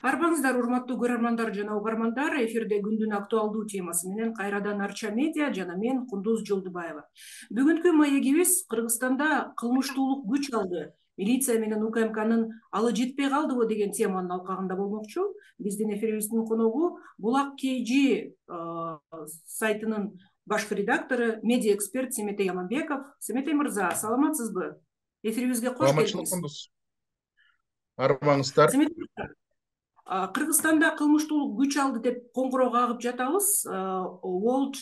Арбаңыздар, урматтуу көрөрмандар жана угармандар, эфирде күндүн актуалдуу темасы менен кайрадан Арча медиа жана мен Кундуз Жолдубаева. Бүгүнкү маегибиз Кыргызстанда кылмыштуулук күч алды, милиция менен УКМКнын алы жетпей калдыбы деген теманын алкагында болмокчу. Биздин эфирибиздин коногу Булак KG сайтынын башкы редактору, медиа эксперт Семетей Аманбеков. Семетей мырза, саламатсызбы? Эфирибизге кош келдиңиз. Арбаңыздар. Кыргызстанда кылмыштуулук күч алды деп коңгуроо кагып жатабыз. World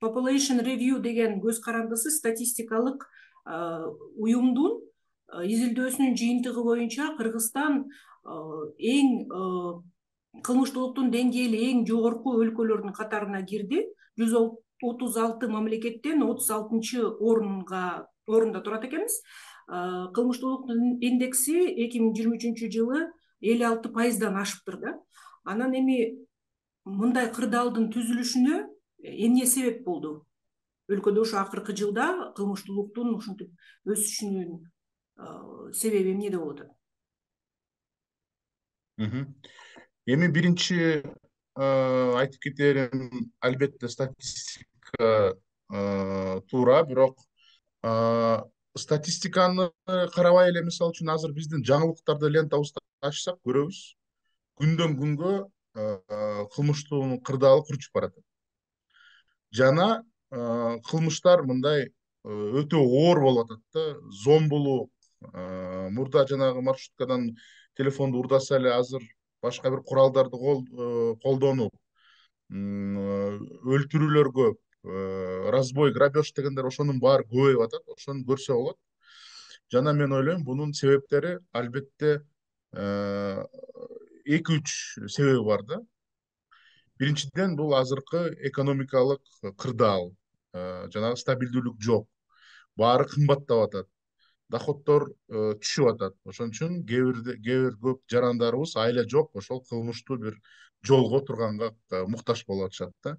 Population Review деген көз карандысы статистикалык уюмдун изилдөөсүнүн жыйынтыгы боюнча Кыргызстан эң кылмыштуулуктун деңгээли эң жогорку өлкөлөрдүн катарына кирди. 136 мамлекеттен 36-орунда турат экенбиз. Кылмыштуулуктун индекси 2023 жылы 56%дан ашыптыр да. Анан эми мындай кырдаалдын түзүлүшүнө эмне себеп болду? Өлкөдө ошо акыркы жылда кылмыштуулуктун ушинтип өсүшүнүн себеби эмнеде болот? Эми биринчи айтып кетерим, албетте статистика туура, бирок статистиканы карабай эле, мисалы үчүн азыр биздин жаңылыктарды лентабызды ачсак көрөбүз, күндөн күнгө кылмыштуулуктун кырдаалы курчуп баратат. Жана кылмыштар мындай өтө оор болуп атат да, зомбулук, мурда жанагы маршруткадан телефонду урдаса эле азыр башка бир куралдарды колдонуп, өлтүрүүлөр көп, разбой, грабеж дегендер ошонун баары көбөйүп атат. Ошону көрсө болот. Жана мен ойлойм, бунун себептери албетте 2-3 себеби бар да. Биринчиден, бул азыркы экономикалык кырдаал, жанагы стабилдүүлүк жок. Баары кымбаттап атат. Доходдор түшүп атат. Ошон үчүн кээ бир көп жарандарыбыз айла жок, ошол кылмыштуу бир жолго турганга муктаж болуп атышат да.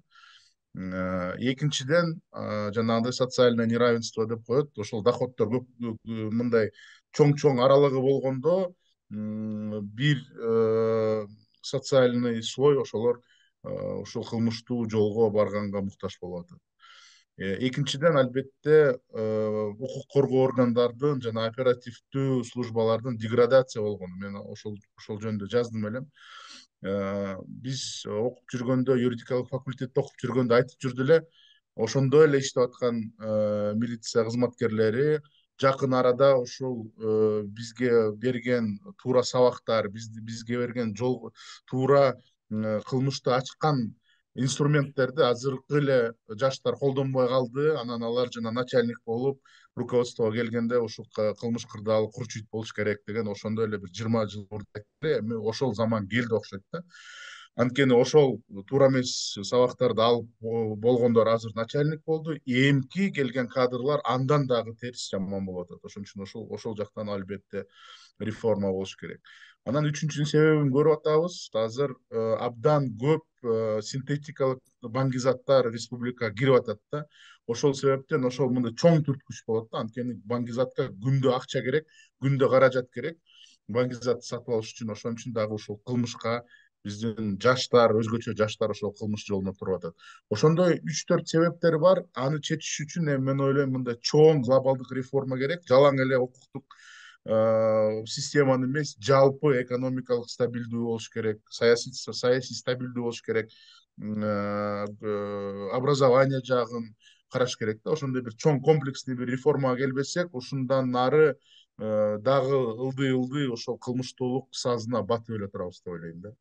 Экинчиден, жанагындай социальное неравенство деп коет. Ошол доходдор көп мындай чоң аралыгы болгондо, бир социальный слой ошолор ушул кылмыштуу жолго барганга муктаж болуп атат. Экинчиден, албетте, укук коргоо органдардын жана оперативдүү службалардын деградация болгону. Мен ошол жөнүндө жаздым элем. Биз окуп жүргөндө, юридикалык факультетте окуп жүргөндө айтып жүрдү эле, ошондо эле иштеп аткан милиция кызматкерлери жакын арада ушул бизге берген туура сабактар, бизге берген жол туура кылмышты ачкан инструменттерди азыркы эле жаштар колдонбой калды. Анан алар жана начальник болуп, руководствого келгенде ушул кылмыш кырдаалы курчуйт болуш керек деген ошондо эле бир 20 жыл мурда айтты. Эми ошол заман келди окшойт да. Анткени ошол туура эмес сабактарды алып болгондор азыр начальник болду. Эмки келген кадрлар андан дагы терс, жаман болуп атат. Ошон үчүн ошол жактан албетте реформа болуш керек. Анан үчүнчү себебин көрүп атабыз. Азыр абдан көп синтетикалык баңгизаттар республикага кирип атат да. Ошол себептен ошол мындай чоң түрткүч болот да. Анткени баңгизатка күндө акча керек, күндө каражат керек. Баңгизатты сатып алыш үчүн, ошон үчүн дагы ушул кылмышка биздин жаштар, өзгөчө жаштар ошол кылмыш жолуна туруп атат. Ошондой 3-4 себептери бар. Аны чечиш үчүн мен ойлойм, мындай чоң глобалдык реформа керек. Жалаң эле укуктук системаны эмес, жалпы экономикалык стабилдүү болуш керек, саясий стабилдүү болуш керек, образование жагын караш керек да. Ошондой бир чоң комплексный бир реформага келбесек, ушундан нары дагы ылдый ошол кылмыштуулук сазына батып эле турабыз деп ойлойм да.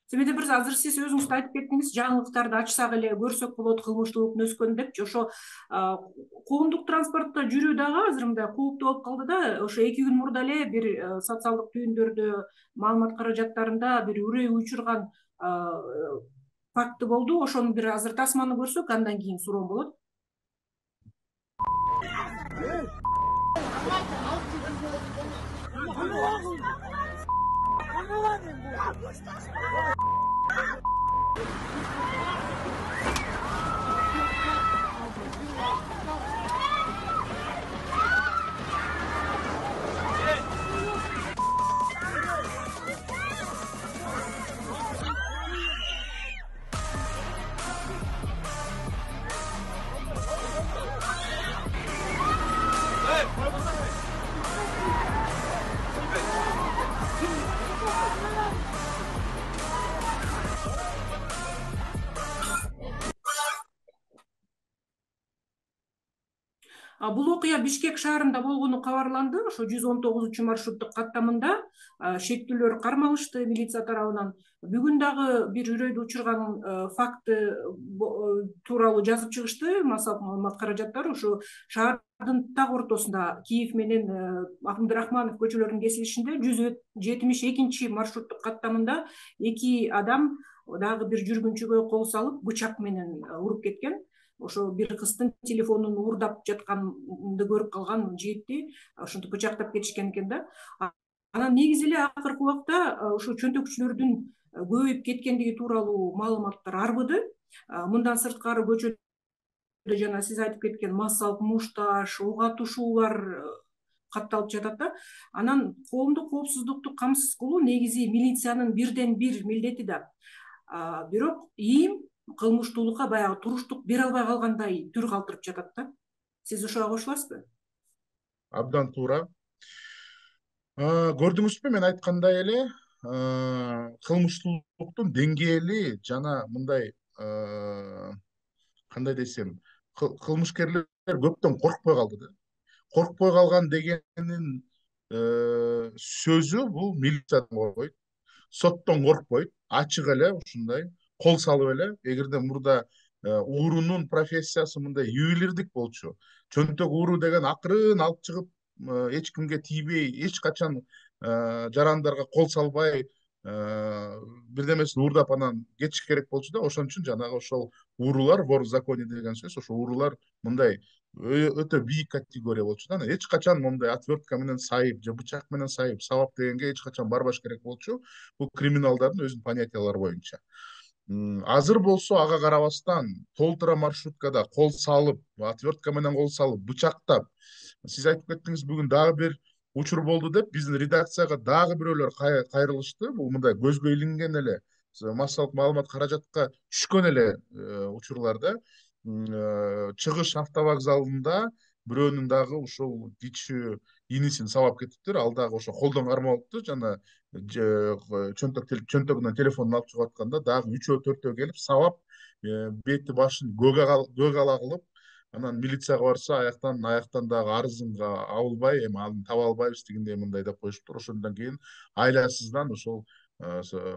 Себеби бир азыр сиз өзүңүз да айтып кеттиңиз, жаңылыктарды ачсак эле көрсөк болот кылмыштуулуктун өскөнүн депчи. Ошо коомдук транспортто жүрүү дагы азыр мындай кооптуу болуп калды да. Ошо 2 күн мурда эле бир социалдык түйүндөрдө, маалымат каражаттарында бир үрөй учурган факты болду. Ошону бир азыр тасманы көрсөк, андан кийин суроом болот. Бул окуя Бишкек шаарында болгону кабарланды. Ошо 119 маршруттук каттамында шектүүлөр кармалышты милиция тарабынан. Бүгүн дагы бир үрөйдү учурган факты тууралуу жазып чыгышты массалык маалымат каражаттары. Ушу шаардын так ортосунда Киев менен Абдрахманов көчөлөрүнүн кесилишинде 172 маршруттук каттамында эки адам дагы бир жүргүнчүгө кол салып бычак менен уруп кеткен. Ошо бир кыздын телефонун уурдап жатканды көрүп калган жигитти ошентип бычактап кетишкен экен да. Анан негизи эле акыркы убакта ушу чөнтөкчүлөрдүн көбөйүп кеткендиги тууралуу маалыматтар арбыды. Мындан сырткары көчөдө жана сиз айтып кеткен массалык мушташ, ок атышуулар катталып жатат да. Анан коомдук коопсуздукту камсыз кылуу негизи милициянын бирден бир милдети да. Бирок ИИМ кылмыштуулукка баягы туруштук бере албай калгандай түр калтырып жатат да. Сиз ошого кошуласызбы? Абдан туура. Көрдүңүзбү, мен айткандай эле кылмыштуулуктун деңгээли жана мындай кандай десем, кылмышкерлер көптөн коркпой калды да. Коркпой калган дегенин сөзү бул милициядан коркпойт, соттон коркпойт, ачык эле ушундай кол салып эле. Эгерде мурда уурунун профессиясы мындай ювелирдик болчу, чөнтөк ууру деген акырын алып чыгып эч кимге тийбей, эч качан жарандарга кол салбай бирдемесин уурдап анан кетиш керек болчу да. Ошон үчүн жанагы ошол уурулар, вор в законе деген сөз, ошо уурулар мындай өтө бийик категория болчу да. Эч качан мындай отвертка менен сайып же бычак менен сайып сабап дегенге эч качан барбаш керек болчу. Бул криминалдардын өзүнүн понятиялары боюнча. Азыр болсо ага карабастан толтура маршруткада кол салып, отвертка менен кол салып, бычактап, сиз айтып кеттиңиз, бүгүн дагы бир учур болду деп биздин редакцияга дагы бирөөлөр кайрылышты. Бул мындай көзгө илинген эле массалык маалымат каражатка түшкөн эле учурларда. Чыгыш автовокзалында бирөөнүн дагы ушул кичүү инисин сабап кетиптир. Ал дагы ошо колдон кармалыптыр. Жана чөнтөгүнөн телефонун алып чыгып атканда дагы 3-4 келип сабап, бети башын көк ала кылып, анан милицияга барса аяктан дагы арызынга абылбай, эми аны таба албайбыз тигиндей мындай деп коюшуптур. Ошондон кийин айласыздан ошол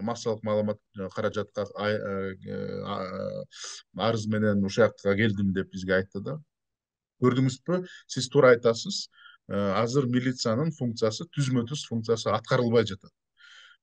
массалык маалымат каражатка арыз менен ушул жакка келдим деп бизге айтты да. Көрдүңүзбү, сиз туура айтасыз. Азыр милициянын функциясы, түзмө-түз функциясы аткарылбай жатат.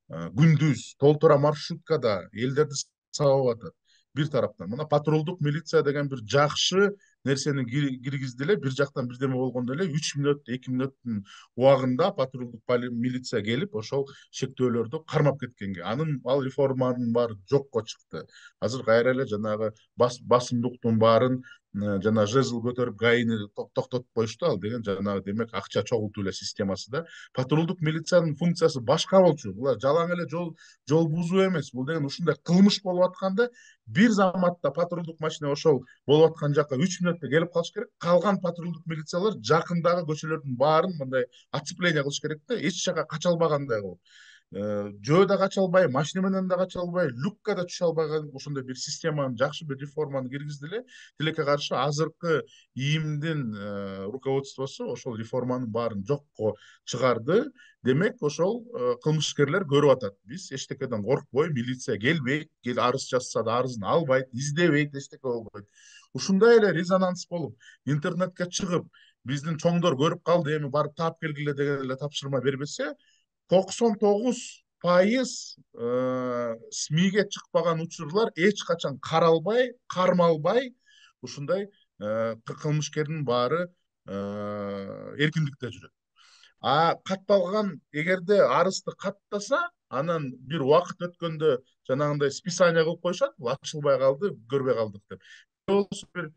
Күндүз толтура маршруткада элдерди сабап атат. Бир тараптан мына патрулдук милиция деген бир жакшы нерсени киргизди эле. Бир жактан бирдеме болгондо эле 3 мүнөт, 2 мүнөттүн убагында патрулдук милиция келип ошол шектөөлөрдү кармап кеткенге. Ал реформанын баары жокко чыкты. Азыр кайра эле жанагы басымдыктын баарын жана жезл көтөрүп гаини токтотуп коюшту. Ал деген жанагы демек акча чогултуу эле системасы да. Патрулдук милициянын функциясы башка болчу. Булар жалаң эле жол бузуу эмес. Бул деген ушундай кылмыш болуп атканда бир заматта патрулдук машина ошол болуп аткан жака 3 мүнөттө келип калыш керек. Калган патрулдук милициялар жакындагы көчөлөрдүн баарын мындай оцепление кылыш керек да, эч жака кача албагандай кылып. Жөө да кача албай, машина менен да кача албай, люкка да түшө албаган ошондой бир системаны, жакшы бир реформаны киргизди эле. Тилекке каршы азыркы ИИМдин руководствосу ошол реформанын баарын жокко чыгарды. Демек ошол кылмышкерлер көрүп атат. Биз эчтекеден коркпой, милиция келбейт, арыз жазса да арызын албайт, издебейт, эчтеке болбойт. Ушундай эле резонанс болуп, интернетке чыгып, биздин чоңдор көрүп калды, эми барып таап келгиле деген эле тапшырма бербесе, 99% СМИге чыкпаган учурлар эч качан каралбай, кармалбай, ушундай кылмышкердин баары эркиндикте жүрөт. Катталган, эгерде арызды каттаса, анан бир убакыт өткөндө жанагындай списание кылып коюшат, бул ачылбай калды, көрбөй калдык деп. Болсо бир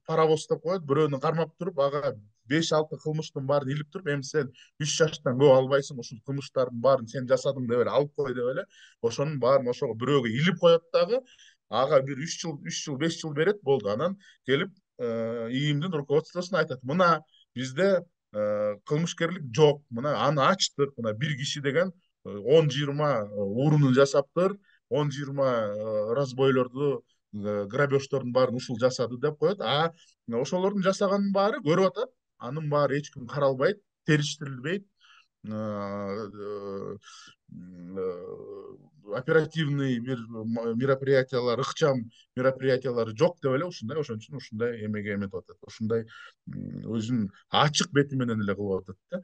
паровоз деп коет, бирөөнү кармап туруп, ага 5-6 кылмыштын баарын илип туруп, эми сен 3 жаштан көп албайсың, ушул кылмыштардын баарын сен жасадың деп эле алып кой деп эле, ошонун баарын ошого бирөөгө илип коет дагы, ага бир 3 жыл, 5 жыл берет, болду. Анан келип ИИМдин руководствосуна айтат: мына бизде кылмышкерлик жок, мына аны ачтык, мына бир киши деген 10-20 уурунун жасаптыр, 10-20 разбойлорду грабеждордун баарын ушул жасады деп коет, а ошолордун жасаганынын баары көрүп атат, анын баары эч ким каралбайт, териштирилбейт, оперативный бир мероприятиялар, ыкчам мероприятиялары жок деп эле ушундай, ошон үчүн ушундай эмеге эметип атат, ушундай өзүнүн ачык бети менен эле кылып атат да.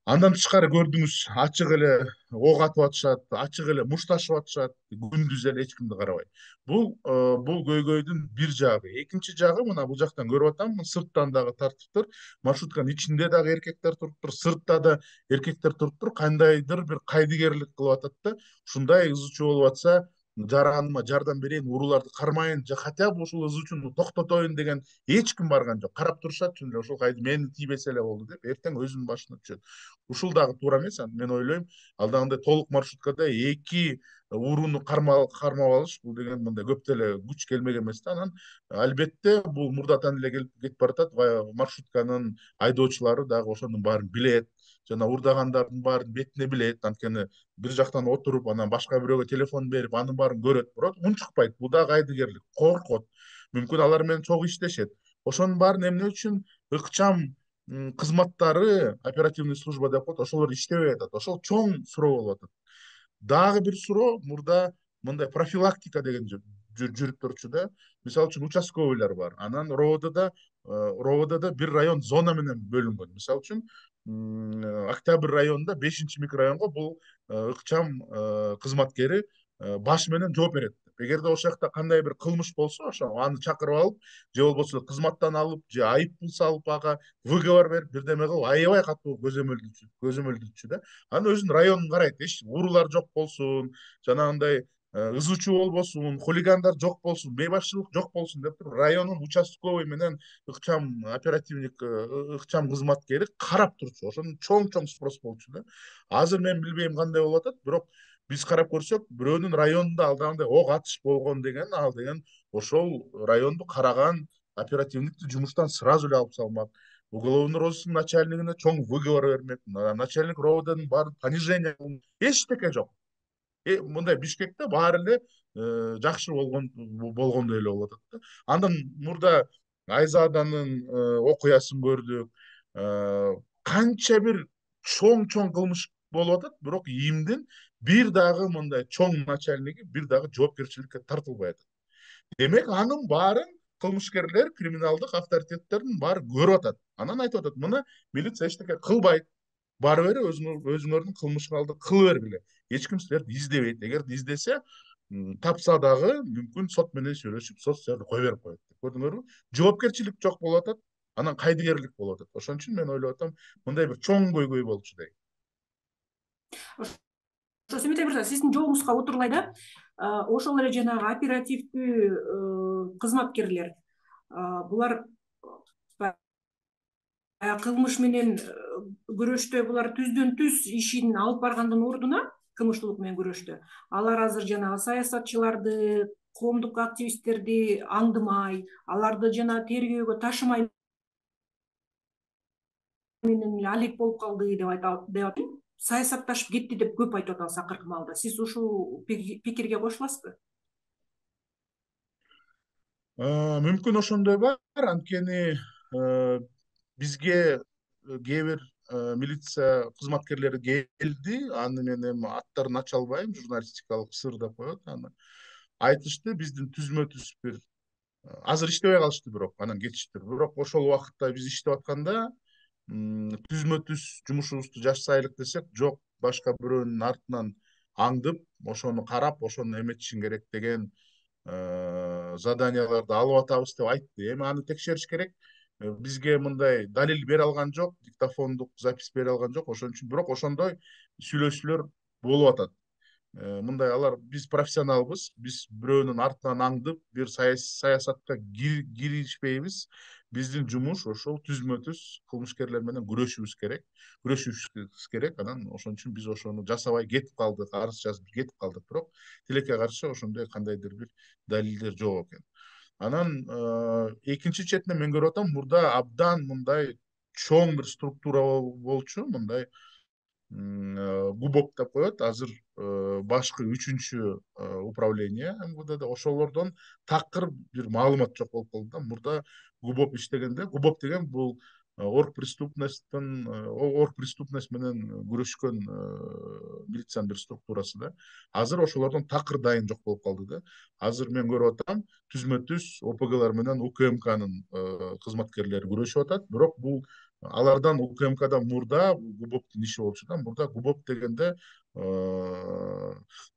Андан тышкары көрдүңүз, ачык эле ок атып атышат, ачык эле мушташып атышат, күндүз эле эч кимди карабай. Бул көйгөйдүн бир жагы. Экинчи жагы мына бул жактан көрүп атам, сырттан дагы тартыптыр. Маршрутканын ичинде дагы эркектер туруптур, сыртта да эркектер туруптур, кандайдыр бир кайдыгерлик кылып атат да. Ушундай ыз чуу болуп атса, жараныма жардам берейин, урууларды кармайын же хотя бы ушул ыз чууну токтотоюн деген эч ким барган жок. Карап турушат, чын эле ошол кайды мени тийбесе эле болду деп, эртең өзүнүн башына түшөт. Ушул дагы туура эмес. Мен ойлойм, ал дагы толук маршруткада эки урууну кармап алыш, бул деген мындай көп деле күч келмек эмес да. Анан албетте бул мурдатан эле кетип баратат. Маршрутканын айдоочулары дагы ошонун баарын билет, жана уурдагандардын баарын бетине билет. Анткени бир жактан отуруп, анан башка бирөөгө телефон берип, анын баарын көрөт, бирок унчукпайт. Бул дагы кайдыгерлик, коркот. Мүмкүн алар менен чогуу иштешет. Ошонун баарын эмне үчүн ыкчам кызматтары, оперативный служба деп коет, ошолор иштебей атат. Ошол чоң суроо болуп атат. Дагы бир суроо, мурда мындай профилактика деген жүрүп турчу да. Мисалы үчүн участковыйлар бар. Анан РОВДда бир район зона менен бөлүнгөн. Мисалы үчүн Октябрь районунда 5-микрорайонго бул ыкчам кызматкери баш менен жооп берет. Эгерде ошол жакта кандай бир кылмыш болсо, ошо аны чакырып алып, же болбосо кызматтан алып, же айып пул салып, ага выговор берип, бирдеме кылып, аябай катуу көзөмөлдүчү да. Анын өзүнүн районун карайт, эч уруулар жок болсун, жанагындай ызы чуу болбосун, хулигандар жок болсун, бейбашчылык жок болсун деп туруп, районун участковый менен ыкчам оперативник, ыкчам кызматкери карап турчу. Ошондон чоң спрос болчу да. Азыр мен билбейм кандай болуп атат, бирок биз карап көрсөк, бирөөнүн районунда ал дагы ок атыш болгон деген, ал деген ошол районду караган оперативникти жумуштан сразу эле алып салмак. Уголовный розыск начальнигине чоң выговор бермек. Начальник РОВДнын баары понижение, эчтеке жок. Мындай Бишкекте баары эле жакшы болгондой эле болуп атат да. Андан мурда Айзаданын окуясын көрдүк. Канча бир чоң кылмыш болуп атат, бирок ИИМдин бир дагы мындай чоң начальниги бир дагы жоопкерчиликке тартылбай атат. Демек, анын баарын кылмышкерлер, криминалдык авторитеттердин баары көрүп атат. Анан айтып атат, мына милиция эчтеке кылбайт. Бары бери өзүңөрдүн кылмышыңарды кыла бергиле. Эч ким силерди издебейт. Эгер издесе, тапса дагы мүмкүн сот менен сүйлөшүп, сот силерди кое берип коет. Көрдүңөрбү? Жоопкерчилик жок болуп атат, анан кайдыгерлик болуп атат. Ошон үчүн мен ойлоп атам, мындай бир чоң көйгөй болчу дейм. Ошо Семетей мырза, сиздин жообуңузга отурлай да, ошол эле жанагы оперативдүү кызматкерлер, булар кылмыш менен күрөштө булар түздөн түз ишин алып баргандын ордуна, кылмыштуулук менен күрөштө алар азыр жанагы саясатчыларды, коомдук активисттерди аңдымай, аларды жана тергөөгө ташымай менен эле алек болуп калды деп атат. Саясатташып кетти деп көп айтып атабыз акыркы маалда. Сиз ушул пикирге кошуласызбы? Мүмкүн ошондой бар. Анткени бизге кээ бир милиция кызматкерлери келди, аны мен эми аттарын ача албайм, журналистикалык сыр деп коет аны. Айтышты, биздин түзмө-түз бир азыр иштебей калышты, бирок анан кетиштир. Бирок ошол убакытта биз иштеп атканда түзмө-түз жумушубузду жашсайлык десек, жок, башка бирөөнүн артынан аңдып, ошону карап, ошону эметишиң керек деген заданияларды алып атабыз деп айтты. Эми аны текшериш керек. Бизге мындай далил бере алган жок, диктофондук запись бере алган жок. Ошон үчүн бирок ошондой сүйлөшүүлөр болуп атат. Мындай алар, биз профессионалбыз, биз бирөөнүн артынан аңдып, бир саясатка киришпейбиз. Биздин жумуш ошол түзмө-түз кылмышкерлер менен күрөшүшүбүз керек. Анан ошон үчүн биз ошону жасабай кетип калдык, арыз жазып кетип калдык. Бирок тилекке каршы ошондой кандайдыр бир далилдер жок экен. Анан экинчи четинен мен көрүп атам, мурда абдан мындай чоң бир структура болчу, мындай ГУБОП деп коет азыр, башкы 3-чү управление МВДда. Ошолордон такыр бир маалымат жок болуп калды да. Мурда ГУБОП иштегенде, ГУБОП деген бул оргпреступность менен күрөшкөн милициянын бир структурасы да. Азыр ошолордон такыр дайын жок болуп калды да. Азыр мен көрүп атам, түзмө-түз ОПГлар менен УКМКнын кызматкерлери күрөшүп атат. Бирок бул алардан УКМКдан мурда ГУБОПтун иши болчу да. Мурда ГУБОП дегенде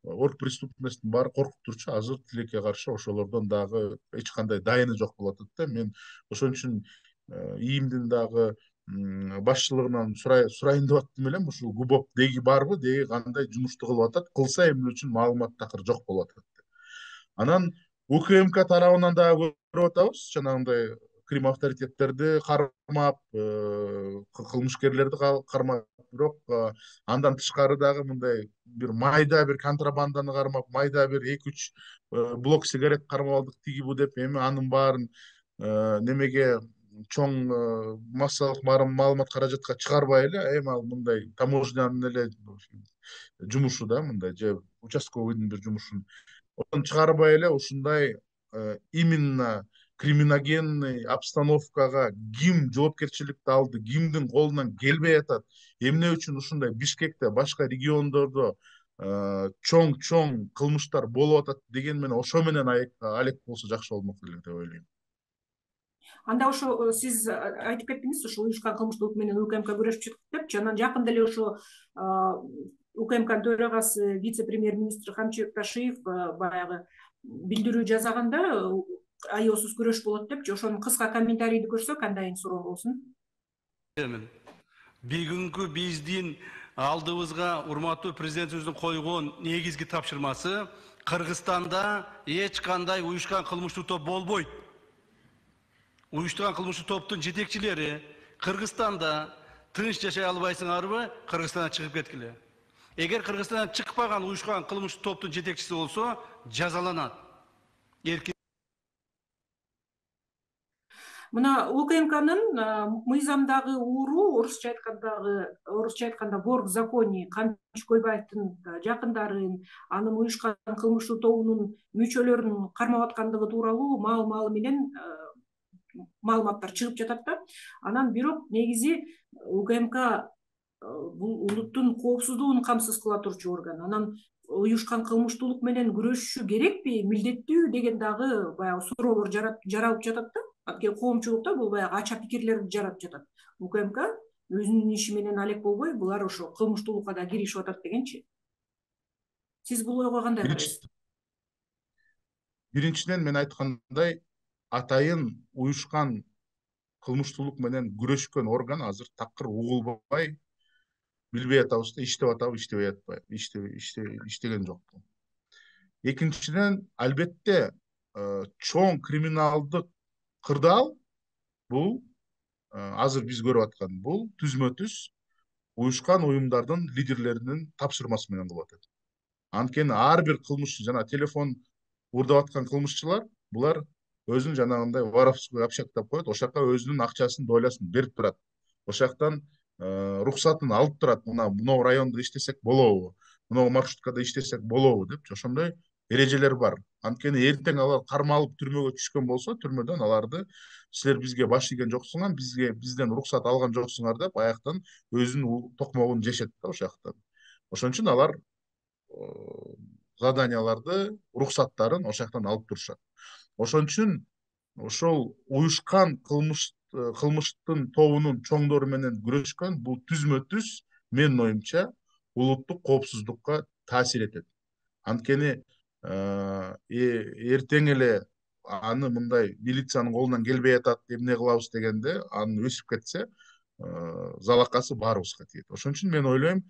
оргпреступностьтун баары коркуп турчу. Азыр тилекке каршы ошолордон дагы эч кандай дайыны жок болуп атат да. Мен ошон үчүн ИИМдин дагы башчылыгынан сурайын деп аттым элем, ушул ГУБОП деги барбы, деги кандай жумушту кылып атат, кылса эмне үчүн маалымат такыр жок болуп атат. Анан УКМК тарабынан дагы көрүп атабыз, жанагындай крим авторитеттерди кармап, кылмышкерлерди кармап, бирок андан тышкары дагы мындай бир майда бир контрабанданы кармап, майда бир 2-3 блок сигарет кармап алдык тиги бу деп, эми анын баарын немеге чоң массалык маалымат каражатка чыгарбай эле, эми ал мындай таможнянын эле жумушу да, мындай же участковыйдын бир жумушун чыгарбай эле ушундай именно криминогенный обстановкага ким жоопкерчиликти алды, кимдин колунан келбей атат, эмне үчүн ушундай Бишкекте, башка региондордо чоң кылмыштар болуп атат деген менен ошо менен алек болсо жакшы болмок эле деп ойлойм. Анда ошо сиз айтып кеттиңиз, ошо уюшкан кылмыштуулук менен УКМК күрөшүп жатат деп. Жана жакында эле ошо УКМКнын төрагасы, вице-премьер-министр Камчыбек Ташиев баягы билдирүү жасаганда аеосуз күрөш болот депчи. Ошонун кыска комментарийди көрсөк, андайын суроо болсун. Бүгүнкү биздин алдыбызга урматтуу президентибиздин койгон негизги тапшырмасы Кыргызстанда эч кандай уюшкан кылмыштуу топ болбойт. Уюштурган кылмыштуу топтун жетекчилери Кыргызстанда тынч жашай албайсыңарбы, Кыргызстандан чыгып кеткиле. Эгер Кыргызстандан чыкпаган уюшкан кылмыштуу топтун жетекчиси болсо, жазаланат. Мына УКМКнын мыйзамдагы ууру, орусча айтканда вор в законе, Камчы Көлбаевдин жакындарын, анын уюшкан кылмыштуу тобунун мүчөлөрүн кармап аткандыгы тууралуу маал менен маалыматтар чыгып жатат да. Анан бирок негизи УКМК бул улуттун коопсуздугун камсыз кыла турчу орган. Анан уюшкан кылмыштуулук менен күрөшүшү керекпи, милдеттүү деген дагы баягы суроолор жаралып жатат да. Анткени коомчулукта бул баягы ача пикирлерди жаратып жатат. УКМК өзүнүн иши менен алек болбой, булар ошо кылмыштуулукка да киришип атат дегенчи. Сиз бул ойго кандай карайсыз? Биринчиден мен айткандай, атайын уюшкан кылмыштуулук менен күрөшкөн орган азыр такыр угулбай, билбей атабыз да, иштеп атабы, иштебей атпайбы, иштеген жокпу. Экинчиден, албетте чоң криминалдык кырдаал бул азыр биз көрүп аткан бул түзмө-түз уюшкан уюмдардын лидерлеринин тапшырмасы менен кылып атат. Анткени ар бир кылмышчы, жана телефон уурдап аткан кылмышчылар, булар өзүн жанагындай воровской общак деп коет, ошол жака өзүнүн акчасын, долясын берип турат. Ошол жактан рухсатын алып турат. Мына райондо иштесек болобу, мына маршруткада иштесек болобу деп, ошондой эрежелер бар. Анткени эртең алар кармалып түрмөгө түшкөн болсо, түрмөдөн аларды силер бизге баш ийген жоксуңар, бизден рухсат алган жоксуңар деп, аяктан өзүнүн токмогун жешет да ошол жактан. Ошон үчүн алар заданияларды, рухсаттарын ошол жактан алып турушат. Ошон үчүн ошол уюшкан кылмыштын тобунун чоңдору менен күрөшкөн бул түзмө-түз менин оюмча улуттук коопсуздукка таасир этет. Анткени эртең эле аны мындай милициянын колунан келбей атат, эмне кылабыз дегенде, аны өсүп кетсе, залакасы баарыбызга тиет. Ошон үчүн мен ойлойм,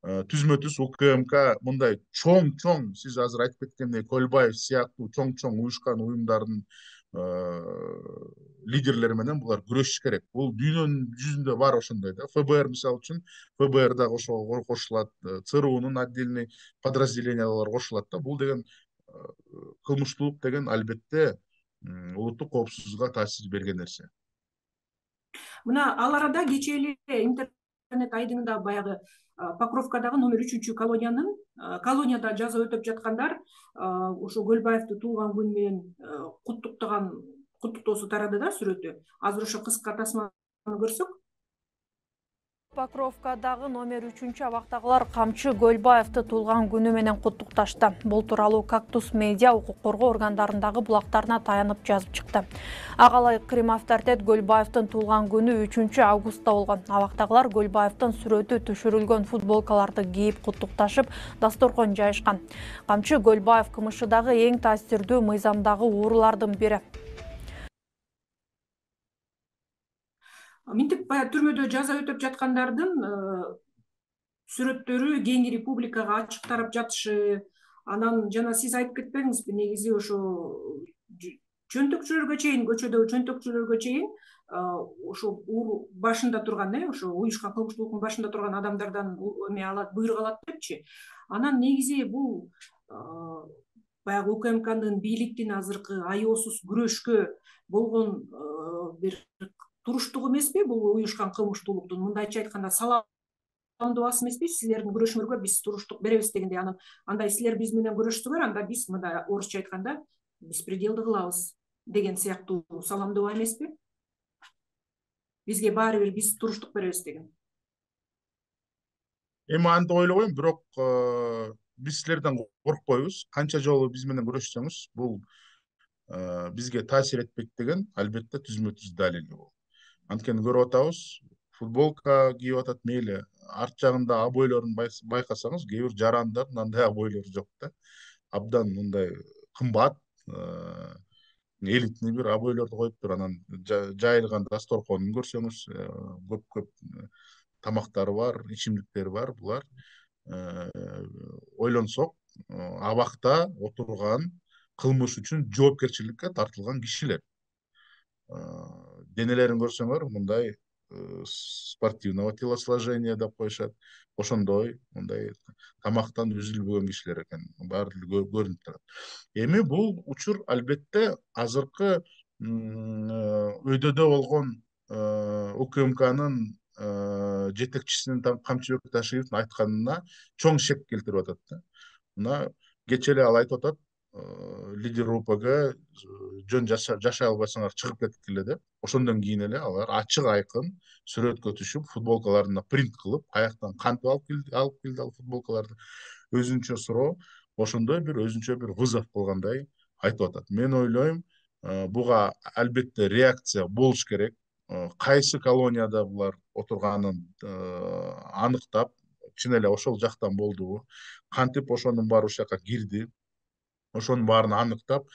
түзмө-түз УКМК мындай чоң, сиз азыр айтып кеткендей, Көлбаев сыяктуу чоң уюшкан уюмдардын лидерлери менен булар күрөшүш керек. Бул дүйнөнүн жүзүндө бар ошондой да. ФБР мисалы үчүн, ФБР дагы ошого кошулат, ЦРУнун отдельный подразделениялары кошулат да. Бул деген кылмыштуулук деген албетте улуттук коопсуздукка таасир берген нерсе. Мына ал арада кечээ эле интернет айдыңында баягы Покровкадагы номер 3 колонияда жаза өтөп жаткандар ошо Көлбаевди туулган күнү менен куттуктоосу тарады да, сүрөтү. Азыр ошо кыска тасманы көрсөк. Покровкадагы номер 3 Камчы Көлбаевди туулган күнү менен куттукташты. Бул тууралуу Кактус медиа укук коргоо органдарындагы булактарына таянып жазып чыкты. Агалай Крим авторитет Көлбаевдин туулган күнү 3-августта болгон. Абактагылар Көлбаевдин сүрөтү түшүрүлгөн футболкаларды кийип куттукташып, дасторкон жайышкан. Камчы Көлбаев КМШдагы эң таасирдүү мыйзамдагы уурулардын бири. Минтип баягы түрмөдө жаза өтөп жаткандардын сүрөттөрү кийинки публикага ачык тарап жатышы, анан жана сиз айтып кетпедиңизби, негизи ошо чөнтөкчүлөргө чейин, көчөдөгү чөнтөкчүлөргө чейин ошо башында турган, ошо уюшкан кылмыштуулуктун башында турган адамдардан буйрук алат депчи. Анан негизи бул баягы УКМКнын бийликтин азыркы аеосуз күрөшкө болгон бир туруштугу эмеспи? Бул уюшкан кылмыштуулуктун, мындайча айтканда, саламдоосу эмеспи? Силердин күрөшүңөргө биз туруштук беребиз дегендей, анан андай силер биз менен күрөшсөңөр, анда биз мындай орусча айтканда беспределды кылабыз деген сыяктуу саламдоо эмеспи? Бизге баары бир, биз туруштук беребиз деген. Эми антип ойлобойм, бирок биз силерден коркпойбуз. Канча жолу биз менен күрөшсөңүз, бул бизге таасир этпейт деген албетте түзмө-түз далил бул. Анткени көрүп атабыз, футболка кийип атат, мейли арт жагында обойлорун байкасаңыз, кээ бир жарандардын андай обойлору жок да. Абдан мындай кымбат, элитный бир обойлорду коюптур. Анан жайылган дасторконун көрсөңүз, көп тамактары бар, ичимдиктери бар. Булар ойлонсок, абакта отурган кылмыш үчүн жоопкерчиликке тартылган кишилер. Денелерин көрсөңөр, мындай спортивного телосложения деп коюшат. Ошондой, мындай тамактан үзүлбөгөн кишилер экен. Баары көрүнүп турат. Эми бул учур албетте азыркы өйдөдө болгон УКМКнын жетекчисинин Камчыбек Ташиевдин айтканына чоң шек келтирип атат да. Мына кечээ эле ал айтып атат, лидер УПГ жөн жашай албайсыңар, чыгып кеткиле деп. Ошондон кийин эле алар ачык айкын сүрөткө түшүп, футболкаларына принт кылып, каяктан кантип алып келди ал футболкаларды, өзүнчө суроо, ошондой бир өзүнчө бир вызов кылгандай айтып атат. Мен ойлойм, буга албетте реакция болуш керек. Кайсы колонияда булар отурганын аныктап, чын эле ошол жактан болдубу, кантип ошонун баары ушул жака кирди, ошонун баарын аныктап,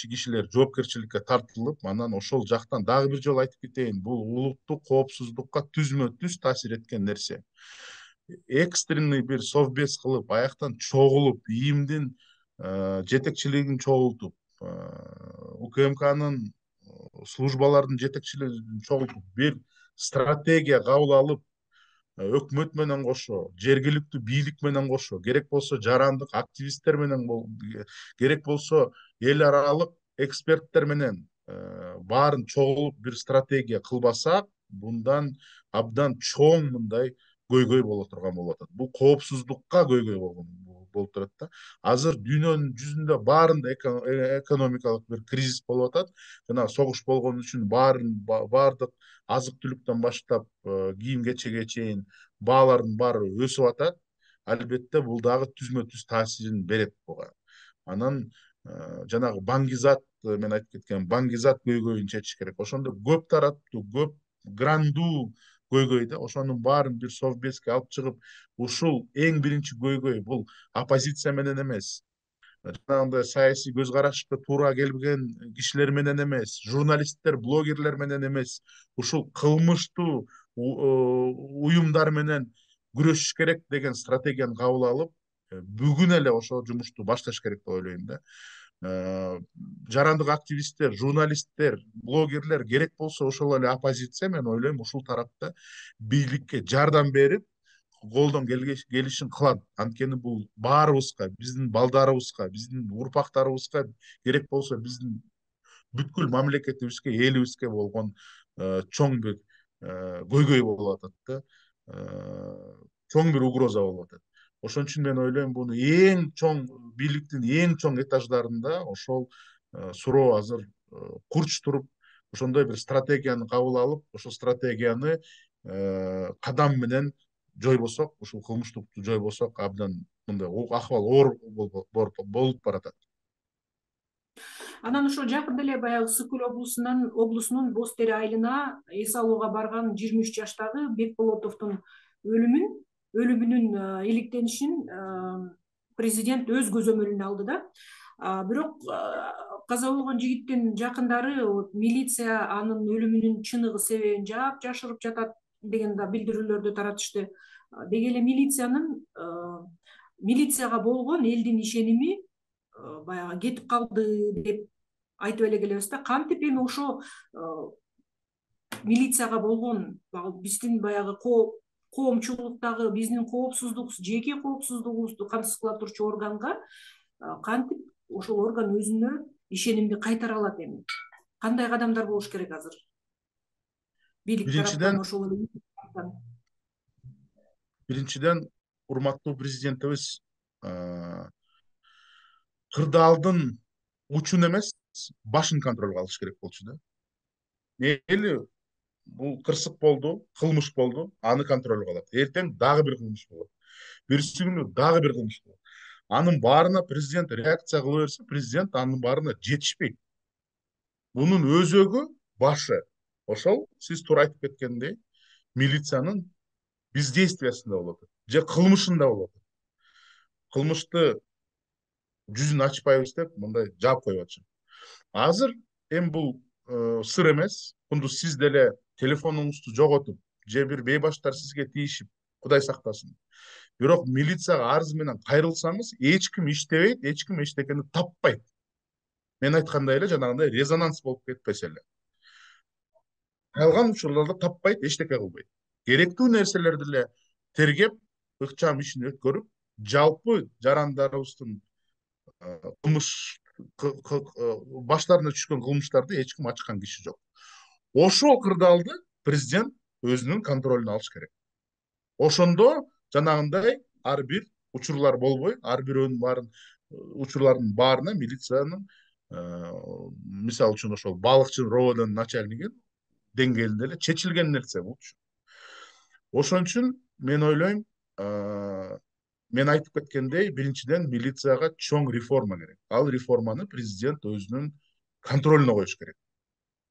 кишилер жоопкерчиликке тартылып, анан ошол жактан дагы бир жолу айтып кетейин, бул улуттук коопсуздукка түзмө-түз таасир эткен нерсе. Экстренный бир совбез кылып, аяктан чогулуп, ИИМдин жетекчилигин чогултуп, УКМКнын службалардын жетекчилигин чогултуп, бир стратегия кабыл алып, өкмөт менен кошо, жергиликтүү бийлик менен кошо, керек болсо жарандык активисттер менен, керек болсо эл аралык эксперттер менен баарын чогулуп бир стратегия кылбасак, bundan абдан чоң мындай көйгөй боло турган болуп атат. Бул коопсуздукка көйгөй болуп турат да. Азыр дүйнөнүн жүзүндө баарында экономикалык бир кризис болуп атат. Жана согуш болгон үчүн баардык азык түлүктөн баштап кийим кечеге чейин баалардын баары өсүп атат. Албетте бул дагы түзмө-түз таасирин берет буга. Анан жанагы баңгизат, мен айтып кеткен баңгизат көйгөйүн чечиш керек. Ошондо көп тараттуу, көп грандуу көйгөй да, ошонун баарын бир совбезге алып чыгып, ушул эң биринчи көйгөй, бул оппозиция менен эмес, жанагындай саясий көз карашка туура келбеген кишилер менен эмес, журналисттер, блогерлер менен эмес, ушул кылмыштуу уюмдар менен күрөшүш керек деген стратегияны кабыл алып, бүгүн эле ошол жумушту башташ керек деп ойлойм да. Жарандык активисттер, журналисттер, блогерлер, керек болсо ошол эле оппозиция, мен ойлойм, ушул тарапта бийликке жардам берип, колдон келишин кылат. Анткени бул баарыбызга, биздин балдарыбызга, биздин урпактарыбызга, керек болсо биздин бүткүл мамлекетибизге, элибизге болгон чоң бир көйгөй болуп атат да, чоң бир угроза болуп атат. Ошон үчүн мен ойлойм, буну эң чоң бийликтин эң чоң этаждарында ошол суроо азыр курч туруп, ошондой бир стратегияны кабыл алып, ошол стратегияны кадам менен жойбосок, ушул кылмыштыкты жойбосок, абдан мындай акыбал оор болуп баратат. Анан ошо жакында эле баягы Ысык Көл облусунун Боз Тери айылына эс алууга барган 23 жаштагы Бекболотовдун өлүмүнүн иликтенишин президент өз көзөмөлүнө алды да. Бирок каза болгон жигиттин жакындары милиция анын өлүмүнүн чыныгы себебин жашырып жатат деген да билдирүүлөрдү таратышты. Деги эле милицияга болгон элдин ишеними баягы кетип калды деп айтып эле келебиз да. Кантип эми ошо милицияга болгон биздин баягы коомчулуктагы биздин жеке коопсуздугубузду камсыз кыла турчу органга кантип ошол орган өзүнө ишенимди кайтара алат эми? Кандай кадамдар болуш керек азыр? Бийлик тараптан ошол биринчиден, урматтуу президентибиз кырдаалдын учун эмес, башын контролго алыш керек болчу да. Мейли бул кырсык болду, кылмыш болду, аны контролго алат. Эртең дагы бир кылмыш болот. Бирси күнү дагы бир кылмыш болот. Анын баарына президент реакция кыла берсе, президент анын баарына жетишпейт. Бунун өзөгү, башы ошол сиз туура айтып кеткендей, милициянын бездействиясында болот же кылмышында болот. Кылмышты жүзүн ачпайбыз деп мындай жаап коюп атышат. Азыр эми бул сыр эмес. Кундуз сиз деле телефонуңузду жоготуп же бир бейбаштар сизге тийишип, Кудай сактасын. Бирок милицияга арыз менен кайрылсаңыз, эч ким иштебейт, эч ким эчтекени таппайт. Мен айткандай эле жанагындай резонанс болуп кетпесе эле. Калган учурларда таппайт, эчтеке кылбайт. Керектүү нерселерди эле тергеп, ыкчам ишин өткөрүп, жалпы жарандарыбыздын кылмыш баштарына түшкөн кылмыштарды эч ким ачкан киши жок. Ошол кырдаалды президент өзүнүн контролуна алыш керек. Ошондо жанагындай ар бир учурлар болбой, ар бирөөнүн учурлардын баарына милициянын мисалы үчүн ошол балыкчы РОВДнын начальниги деңгээлинде эле чечилген нерсе болчу. Ошон үчүн мен ойлойм, мен айтып кеткендей, биринчиден милицияга чоң реформа керек. Ал реформаны президент өзүнүн контролуна коюш керек.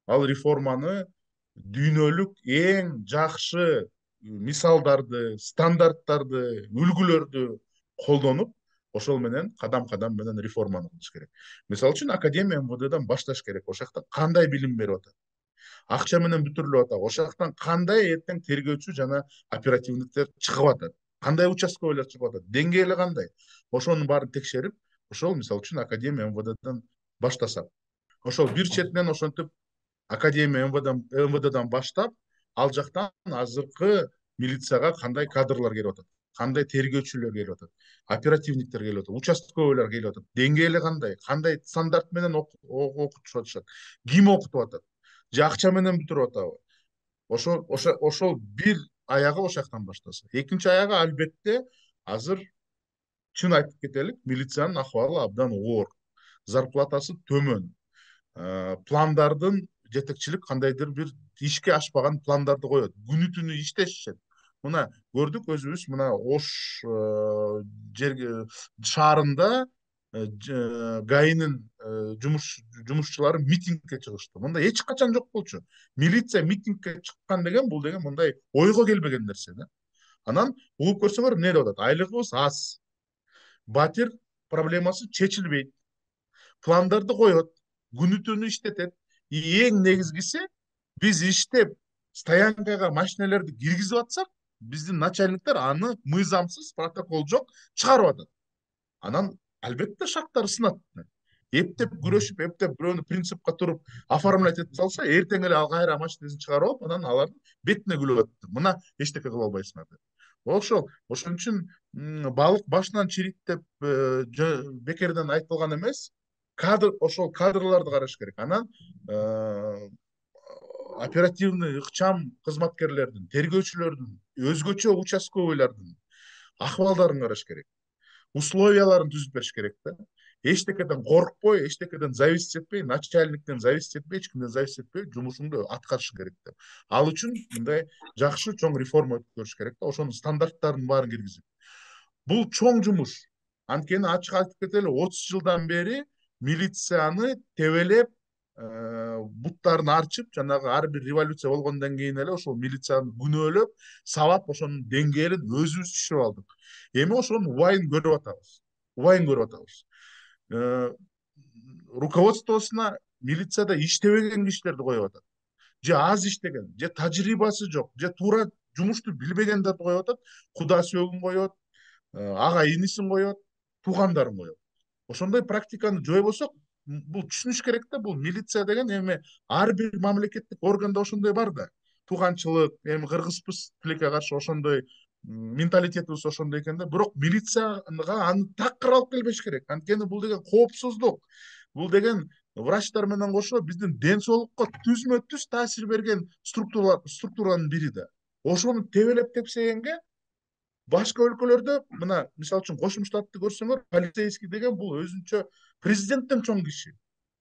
Ал реформаны дүйнөлүк эң жакшы мисалдарды, стандарттарды, үлгүлөрдү колдонуп, ошол менен кадам менен реформаны кылыш керек. Мисалы үчүн Академия МВДдан башташ керек. Ошол жакта кандай билим берип атат? Акча менен бүтүрүлүп атат. Ошол жактан кандай эртең тергөөчү жана оперативниктер чыгып атат? Кандай участковыйлар чыгып атат? Деңгээли кандай? Ошонун баарын текшерип, ошол мисалы үчүн Академия МВДдан баштасак. Ошол бир четинен ошентип Академия МВДдан баштап, ал жактан азыркы милицияга кандай кадрлар келип атат, кандай тергөөчүлөр келип атат, оперативниктер келип атат, участковыйлар келип атат, деңгээли кандай стандарт менен окутуп атышат, ким окутуп атат, же акча менен бүтүрүп атабы? Ошол бир аягы ошол жактан баштаса. Экинчи аягы албетте азыр чын айтып кетелик, милициянын акыбалы абдан оор. Зарплатасы төмөн. Пландардын жетекчилик кандайдыр бир ишке ашпаган пландарды коет. Күнү түнү иштешет. Мына көрдүк өзүбүз, мына Ош шаарында ГАИнин жумушчулары митингге чыгышты. Мындай эч качан жок болчу. Милиция митингге чыккан деген бул деген мындай ойго келбеген нерсе да. Анан угуп көрсөңөр эмне деп атат? Айлыгыбыз аз. Батир проблемасы чечилбейт. Пландарды коет, күнү түнү иштетет. Эң негизгиси, биз иштеп стоянкага машиналерди киргизип атсак, биздин начальниктер аны мыйзамсыз, протокол жок чыгарып атат. Анан албетте шактар сынат. Эптеп күрөшүп, эптеп бирөөнү принципке туруп оформлять этип салса, эртең эле ал кайра машинесин чыгарып алып, анан алардын бетине күлүп атат. Мына эчтеке кыла албайсыңар деп. Ошон үчүн балык башынан чирийт деп бекерден айтылган эмес. Ошол кадрларды караш керек. Анан оперативный ыкчам кызматкерлердин, тергөөчүлөрдүн, өзгөчө участковыйлардын акыбалдарын караш керек, условияларын түзүп бериш керек да. Эчтекеден коркпой, эчтекеден зависить этпей, начальниктен зависить этпей, эч кимден зависить этпей жумушуңду аткарыш керек да. Ал үчүн мындай жакшы чоң реформа өткөрүш керек да, ошонун стандарттарын баарын киргизип. Бул чоң жумуш. Анткени ачык айтып кетели, 30 жылдан бери милицияны тебелеп, буттарын арчып, жанагы ар бир революция болгондон кийин эле ошол милицияны күнөөлөп, сабап, ошонун деңгээлин өзүбүз түшүрүп алдык. Эми ошонун убайын көрүп атабыз. Убайын көрүп атабыз. Руководствосуна милицияда иштебеген кишилерди коюп атат. Же аз иштеген, же тажрыйбасы жок, же туура жумушту билбегендерди коюп атат, куда сөөгүн коет, ага инисин коет, туугандарын коет. Ошондой практиканы жойбосок, бул түшүнүш керек да, бул милиция деген эми ар бир мамлекеттик органда ошондой бар да. Тууганчылык, эми кыргызбыз тилекке каршы ошондой менталитетибиз ошондой экен да. Бирок милицияга аны такыр алып келбеш керек. Анткени бул деген коопсуздук. Бул деген врачтар менен кошо биздин ден соолукка түзмө түз таасир берген структуранын бири да. Ошону тебелеп тепсегенге башка өлкөлөрдө, мына мисалы үчүн Кошмо Штатты көрсөңөр, полицейский деген бул өзүнчө президенттен чоң киши.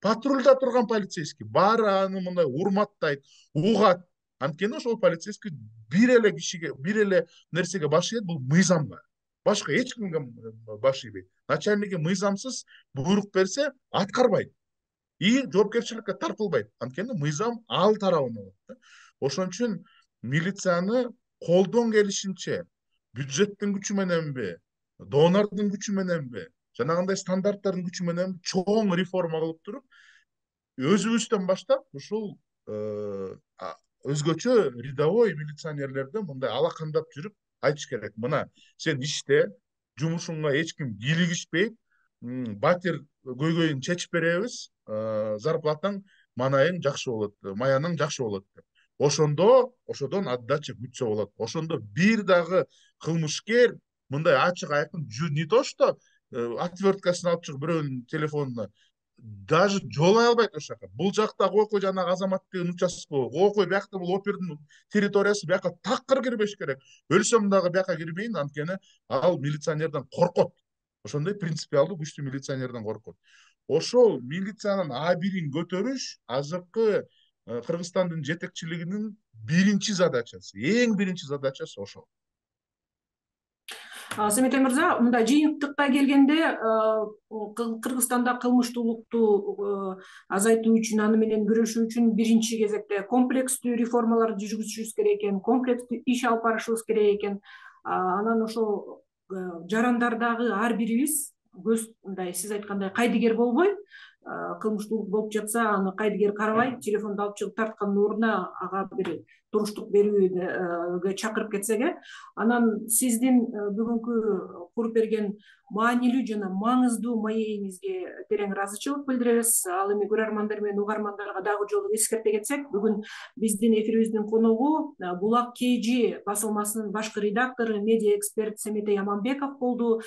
Патрульда турган полицейский баары аны мындай урматтайт, угат. Анткени ошол полицейский бир эле кишиге, бир эле нерсеге баш ийет, бул мыйзамга. Башка эч кимге баш ийбейт. Начальниги мыйзамсыз буйрук берсе, аткарбайт. И жоопкерчиликке тартылбайт. Анткени мыйзам ал тарабында болот. Ошон үчүн милицияны колдон келишинче бюджеттин күчү мененби, донордун күчү мененби, жанагындай стандарттардын күчү менен чоң реформа кылып туруп, өзүбүздөн баштап ушул өзгөчө рядовой милиционерлерди мындай алакандап жүрүп айтыш керек. Мына сен иште, жумушуңа эч ким кийлигишпейт, батир көйгөйүн чечип беребиз, зарплатаң, манайың жакшы болот, маяның жакшы болот деп. Ошодон отдача күтсө болот. Ошондо бир дагы кылмышкер мындай ачык айкын не то что отверткасын алып чыгып бирөөнүн телефонуна даже жолой албайт ошол жака. Бул жакта койкой жанагы азаматтын участковый, койкой биякта бул опердин территориясы, бияка такыр кирбеш керек. Өлсөм дагы бияка кирбейин, анткени ал милиционерден коркот. Ошондой принципиалдуу күчтүү милиционерден коркот. Ошол милициянын А1-ин көтөрүш азыркы Кыргызстандын жетекчилигинин биринчи задачасы, эң биринчи задачасы ошол. Семетей мырза, мындай жыйынтыкка келгенде, Кыргызстанда кылмыштуулукту азайтуу үчүн, аны менен күрөшүү үчүн биринчи кезекте комплекстүү реформаларды жүргүзүшүбүз керек экен, комплекстүү иш алып барышыбыз керек экен. Анан ошол жарандардагы ар бирибиз мындай сиз айткандай кайдыгер болбой, кылмыштуулук болуп жатса, аны кайдыгер карабай, телефонду алып чыгып тарткандын ордуна ага бир туруштук берүүгө чакырып кетсек, анан сиздин бүгүнкү куруп берген маанилүү жана маңыздуу маегиңизге терең ыраазычылык билдиребиз. Ал эми көрөрмандар менен угармандарга дагы жолу эскерте кетсек, бүгүн биздин эфирибиздин коногу Булак KG басылмасынын башкы редактору, медиа эксперт Семетей Аманбеков болду.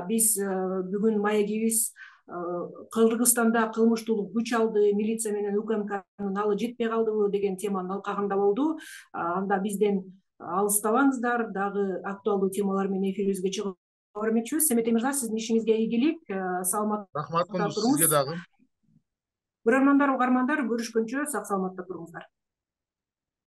Биз бүгүн маегибиз Кыргызстанда кылмыштуулук күч алды, милиция менен УКМКнын алы жетпей калдыбы деген теманын алкагында болду. Анда бизден алыстабаңыздар, дагы актуалдуу темалар менен эфирибизге чыгып көрмөкчүбүз. Семетей мырза, сиздин ишиңизге ийгилик, саламатта Рахмат, туруңуз. сизге дагы. Көрөрмандар, угармандар, көрүшкөнчө сак саламатта туруңуздар.